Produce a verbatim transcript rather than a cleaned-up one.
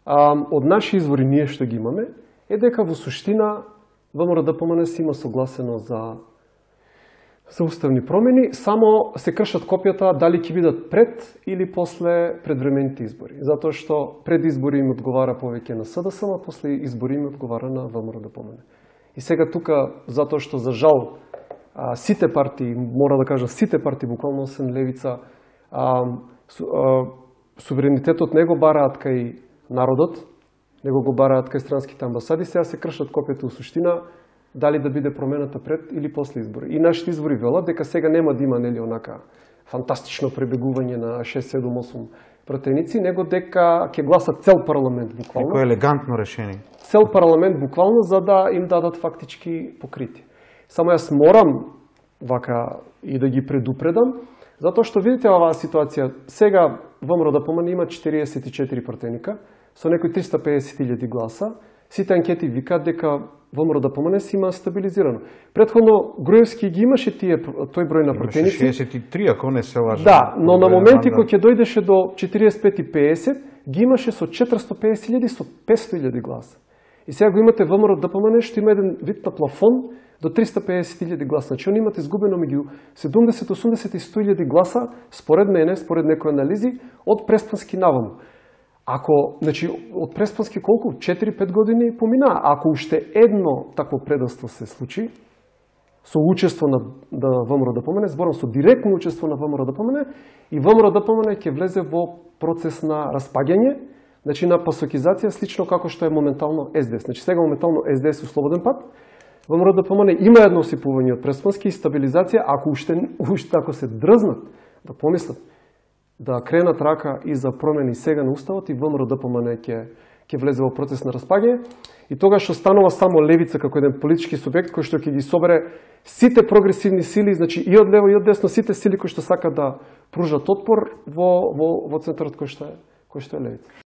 од наши извори ние што ги имаме, е дека во суштина ВМРО-ДПМНЕ се има согласено за за уставни промени, само се кршат копијата дали ќе бидат пред или после предвремените избори. Затоа што пред избори им одговара повеќе на СДСМ, а после избори им одговара на ВМРО-ДПМНЕ. И сега тука, затоа што за жал сите партии, мора да кажа сите партии, буквално освен левица, а, су, а, суверенитетот не го бараат кај народот, него го бараат кај странските амбасади, сега се кршат копијата у суштина дали да биде промената пред или после избори. И нашите избори велат дека сега нема да има нели онака фантастично пребегување на шест седум осум пратеници, него дека ќе гласат цел парламент буквално. Некој елегантно решение. Цел парламент буквално за да им дадат фактички покрити. Само јас морам вака и да ги предупредам, затоа што видите оваа ситуација, сега ВМРО-ДПМНЕ има четириесет и четири пратеника, со некои триста пеесет илјади гласа, сите анкети викаат дека ВМРО-ДПМНЕ си има стабилизирано. Претходно Груевски ги имаше тие тој број на пратеници. шеесет и три, ако не се лажам. Да, но на моменти кога ќе дојдеше до четириесет и пет и пеесет, ги имаше со четиристо пеесет илјади, со петсто илјади гласа. И сега го имате ВМРО-ДПМНЕ што има еден вид на плафон до триста пеесет илјади гласа. Значи, они имат изгубено меѓу седумдесет, осумдесет и сто илјади гласа, според мене, според некои анализи, од Преспански наваму. Ако, значи, од Преспански колку? четири-пет години помина. Ако уште едно такво предавство се случи, со учество на да ВМРО-ДПМНЕ, зборам со директно учество на ВМРО-ДПМНЕ, и ВМРО-ДПМНЕ ќе влезе во процес на распаѓање, значи на пасокизација, слично како што е моментално Ес Де Ес. Значи, сега моментално Ес Де Ес е слободен пат, ВМРО-ДПМНЕ има едно осипување од Преспански и стабилизација, ако уште, уште ако се дрзнат да помислат, да кренат рака и за промени сега на уставот, и ВМРО-ДПМНЕ ќе ќе влезе во процес на распаѓање, и тогаш што станува само левица како еден политички субјект кој што ќе ги собере сите прогресивни сили, значи и од лево и од десно, сите сили кои што сакаат да пружат отпор во во во центарот кој што е кој што е левица.